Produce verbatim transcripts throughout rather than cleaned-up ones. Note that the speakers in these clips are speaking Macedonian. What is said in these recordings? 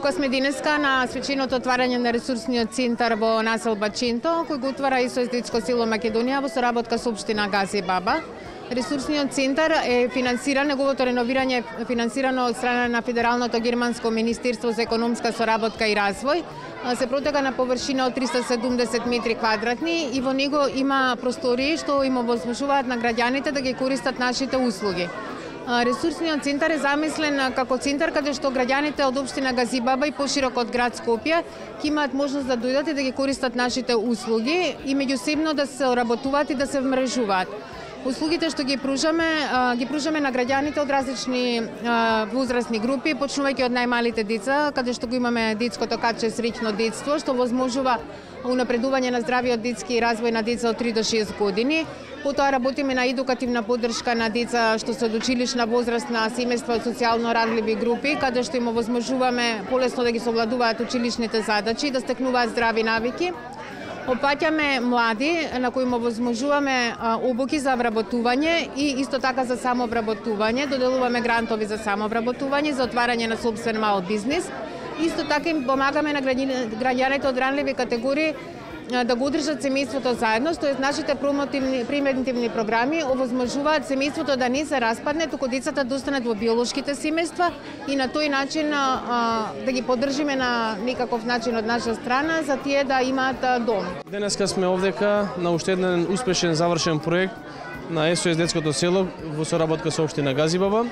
Тука сме денеска на свеченото отварање на ресурсниот центар во насел Бачинто, кој го отвара ЕСОС детско село Македонија во соработка со општина Гази Баба. Ресурсниот центар е финансиран, неговото реновирање е финансирано од страна на Федералното германско министерство за економска соработка и развој. Се протега на површина од триста седумдесет метри квадратни и во него има простории што им овозможуваат на граѓаните да ги користат нашите услуги. Ресурсниот центар е замислен како центар каде што граѓаните од општина Газибаба и пошироко од град Скопје ќе имаат можност да дојдат и да ги користат нашите услуги и меѓусебно да се работуваат и да се вмрежуваат. Услугите што ги пружаме, ги пружаме на граѓаните од различни возрастни групи, почнувајќи од најмалите деца, каде што го имаме детското каче Среќно детство, што возможува унапредување на здравиот детски развој на деца од три до шест години. Потоа работиме на едукативна поддршка на деца што се од училишна возраст, на семејства од социјално радливи групи, каде што им овозможуваме полесно да ги совладуваат училишните задачи и да стекнуваат здрави навики. Опаќаме млади на кои им овозможуваме обуки за вработување и исто така за самовработување. Доделуваме грантови за самовработување, за отварање на сопствен мал бизнис. Исто така им помагаме на граѓаните од ранливи категории да го одржат семејството заедно, тоест нашите промотивни превентивни програми овозможуваат семејството да не се распадне, туку децата да останат во биолошките семејства и на тој начин а, да ги поддржиме на некаков начин од наша страна за тие да имаат дом. Денеска сме овдека на уште еден успешен завршен проект на ЕСОС детското село во соработка со општина Газибаба.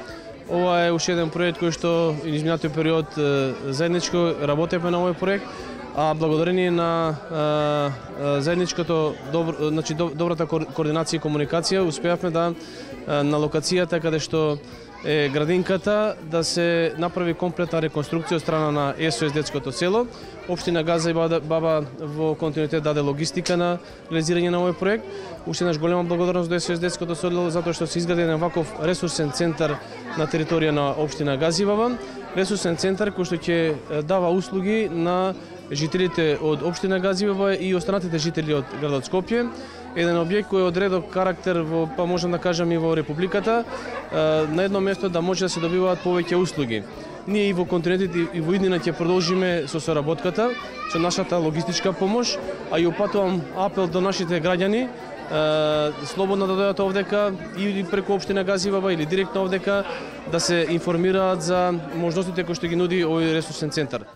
Ова е уште еден проект кој што изминатиот период заедничко работевме на овој проект. А благодарение на а, а, заедничкото добро, значи, добрата координација и комуникација успеавме да а, на локацијата каде што е градинката да се направи комплетна реконструкција од страна на ЕСОС детското село. Општина Гази Баба во континуитет даде логистика на реализирање на овој проект. Уште еднаш голема благодарност до ЕСОС детското село затоа што се изгради еден ваков ресурсен центар на територија на општина Гази Баба. Ресурсен центар кој што ќе дава услуги на жителите од општина Гази Баба и останатите жители од градот Скопје. Еден објект кој е од редок карактер во, па можам да кажам и во републиката, на едно место да може да се добиваат повеќе услуги. Ние и во континуитет и во иднина ќе продолжиме со соработката, со нашата логистичка помош, а и опатувам апел до нашите граѓани слободно да дојдат овдека или преку општина Гази Баба или директно овдека да се информираат за можностите кои што ги нуди овој ресурсен центар.